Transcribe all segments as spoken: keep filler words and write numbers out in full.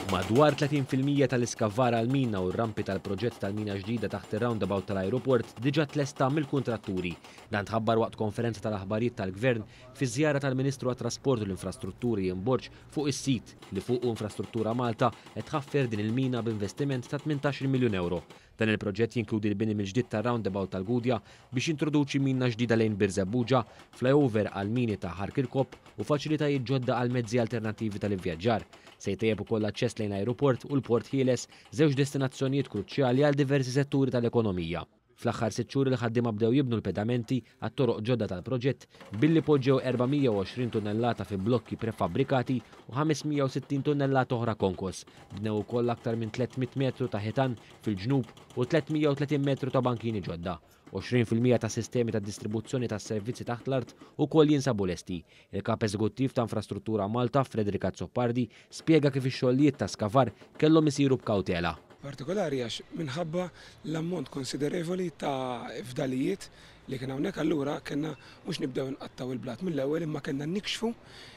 Madwar tletin fil-mija tal-iskavar għal-mina u r-rampi tal-proġett tal-mina ġdida taħt ir-roundabout tal-ajruport diġà tlesta mill-kuntratturi. Dan tħabbar waqt konferenza tal-aħbarijiet tal-Gvern fi żjara tal-Ministru għat-Trasport u l-Infrastrutturi Ian Borg fuq is-sit li fuqu Infrastruttura Malta qed tħaffer din il-mina b'investiment ta' tmintax-il miljun euro. Dan il-proġett jinkludi l-bini mill-ġdid tar-roundabout tal-Gudja biex jintroduċi mina ġdida lejn Birżebbuġa, flyover għal mini ta' Ħal Kirkop u faċilitajiet ġodda għal mezzi alternattivi tal-ivvjaġġar. Se jtejjeb ukoll l-aċċess lejn l-ajruport u l-Port Ħieles, żewġ destinazzjonijiet kruċjali għal diversi setturi tal-ekonomija. Fl-aħħar sitt xhur il-ħaddiema bdew jibnu l-pedamenti għat-toroq ġodda tal-proġett billi poġġew erba' mija u għoxrin tunnellata fi blokki prefabbrikati u ħames mija u sittin tunnellata oħra konkos. Bnew ukoll aktar minn tliet mitt metru ta' ħitan fil-ġnub u tliet mija u tletin metru ta' bankini ġodda. għoxrin fil-mija ta' sistemi ta' distribuzzjoni ta' servizzi taħt l-art ukoll jinsabu lesti. Il-kap eżekuttiv ta' Infrastruttura Malta, Frederick Azzopardi, spjega kif ix-xogħlijiet ta' skavar kellhom isiru b'kawtela. Partikolari għax minħabba l-ammont konsiderevoli ta' fdalijiet li kien hawnhekk, allura kellna mhux nibdew nqattaw il-blat mill-ewwel imma kellna nikxfu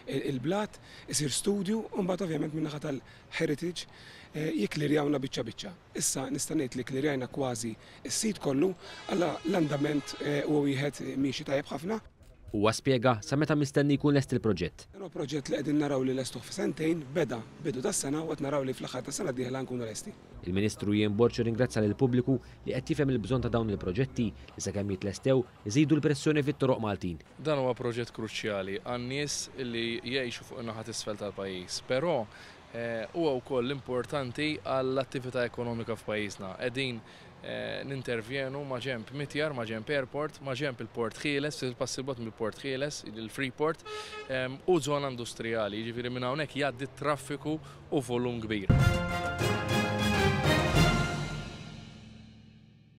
il-blat, isir studju u mbagħad ovvjament min-naħa tal-heritage, eh, jiklirjawna biċċa biċċa. Issa nista' ngħid li klirjajna kważi s-sit kollu, alla l-andament, eh, huwa wieħed miexi tajjeb ħafna. Huwa spjega sa meta mistenni jkun lest il-proġett. Dan huwa proġett li qegħdin naraw li lestuh f'sentejn, beda bidu tas-sena u qed naraw li fl-aħħar tas-sena d-dieħla nkunu lesti. Il-Ministru Ian Borg ringrazzja lill-pubbliku li qed jifhem il-bżonn ta' dawn il-proġetti li sakemm jitlestew iżidu l-pressjoni fit-toroq Maltin. Dan huwa proġett kruċjali għan-nies li jgħixu fuq in-naħa t'isfel tal-pajjiż, però, eh, huwa wkoll importanti għall-attività ekonomika f'pajjiżna. Qegħdin, eh, nintervjenu ma' ġemp Mitjar, ma' ġemp Airport, ma' ġemp il-Port Ħieles, il-pass il-bogħod mill-Port Ħieles, il-Freeport, ehm, u żona industrijali, jiġifieri minn hawnhekk jgħaddi traffiku u volum kbir.